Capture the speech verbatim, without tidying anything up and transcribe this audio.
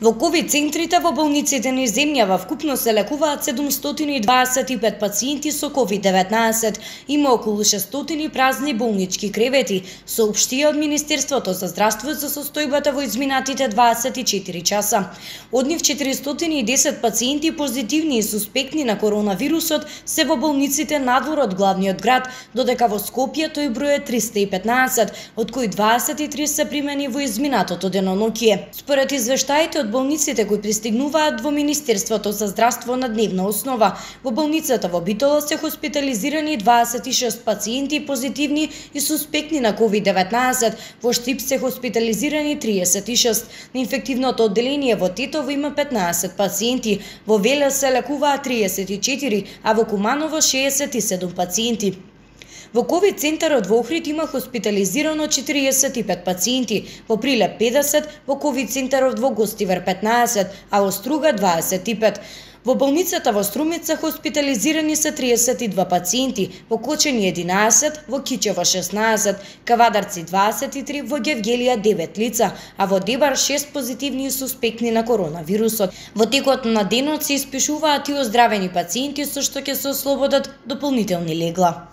Во ковид центрите во болниците низ земјава вкупно се лекуваат седумстотини и дваесет и пет пациенти со ковид деветнаесет. Има околу шестстотини празни болнички кревети, соопштија од Министерството за здравство за состојбата во изминатите дваесет и четири часа. Од нив четиристотини и десет пациенти позитивни и суспектни на коронавирусот се во болниците надвор од главниот град, додека во Скопје тој број е триста и петнаесет, од кои дваесет и три се примени во изминатото деноноќие. Според извештаите од болниците кои пристигнуваат во Министерството за здравство на дневна основа, во болницата во Битола се хоспитализирани дваесет и шест пациенти позитивни и суспектни на ковид деветнаесет, во Штип се хоспитализирани триесет и шест, на инфективното одделение во Тетово има петнаесет пациенти, во Велес се лекуваат триесет и четири, а во Куманово шеесет и седум пациенти. Во ковид центарот во Охрид има хоспитализирано четириесет и пет пациенти, во Прилеп педесет, во ковид центарот во Гостивар петнаесет, а во Струга дваесет и пет. Во болницата во Струмица хоспитализирани се триесет и два пациенти, во Кочани единаесет, во Кичево шеснаесет, Кавадарци дваесет и три, во Гевгелија девет лица, а во Дебар шест позитивни и суспектни на коронавирусот. Во текот на денот се испишуваат и оздравени пациенти со што ќе се ослободат дополнителни легла.